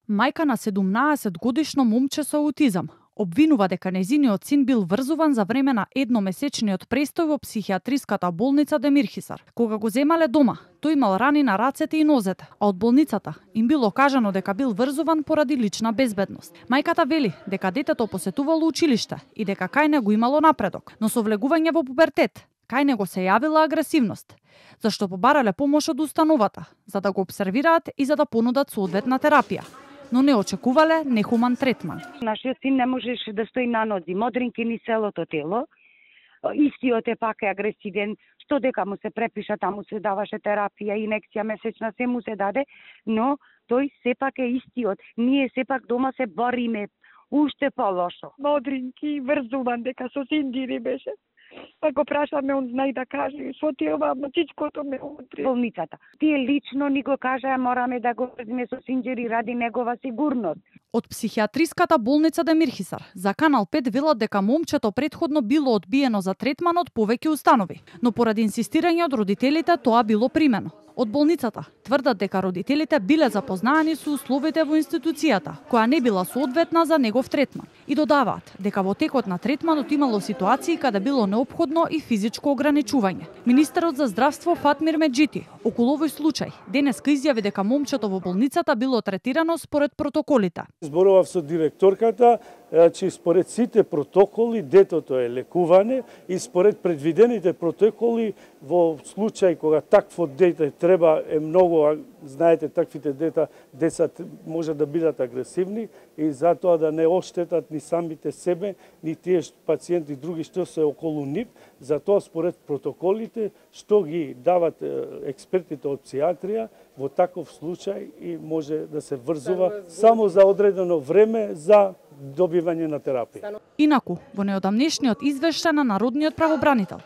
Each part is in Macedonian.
Мајка на 17-годишно момче со аутизам обвинува дека нејзиниот син бил врзуван за време на едномесечниот престој во психијатриската болница Демирхисар. Кога го земале дома, тој имал рани на рацете и нозете, а од болницата им било кажано дека бил врзуван поради лична безбедност. Мајката вели дека детето посетувало училиште и дека кај него имало напредок, но со влегување во пубертет кај него се јавила агресивност, зашто побарале помош од установата, за да го обсервираат и за да понудат соодветна терапија, но не очекувале нехуман третман. Нашиот син не можеше да стои на нози, модринки ни целото тело, истиот е пак агресивен, што дека му се препиша, таму се даваше терапија, инекција месечна, се му се даде, но тој сепак е истиот. Ние сепак дома се бориме, уште полошо. Модринки, врзуван, дека со синдири беше. Па го прашаме, он знај да каже, со тива, мачичкото ме утри. Болницата. Тие лично ни го кажаа, мораме да го врзиме со синџери ради негова сигурност. Од психијатриската болница Демирхисар за Канал 5 велат дека момчето претходно било одбиено за третман од повеќе установи, но поради инсистирање од родителите тоа било примено. Од болницата тврдат дека родителите биле запознаани со условите во институцијата, која не била соодветна за негов третман. И додаваат дека во текот на третманот имало ситуации каде било неопходно и физичко ограничување. Министерот за здравство Фатмир Меджити околу овој случај денеска изјави дека момчето во болницата било третирано според протоколите. Зборував со директорката, че според сите протоколи детето е лекуване и според предвидените протоколи во случај кога такво дете треба е многу, знаете, таквите деца може да бидат агресивни и затоа да не оштетат ни самите себе, ни тие пациенти други што се околу нив, затоа според протоколите што ги дават експертите од психијатрија, во таков случај и може да се врзува само за одредено време за добивање на терапија. Инаку, во неодамнешниот извештај на Народниот правобранител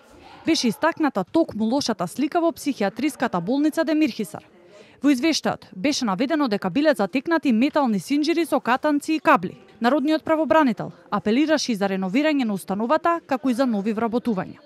беше истакната токму лошата слика во психијатриската болница Демирхисар. Во извештајот беше наведено дека биле затекнати метални синџири со катанци и кабли. Народниот правобранител апелираше и за реновирање на установата, како и за нови вработувања.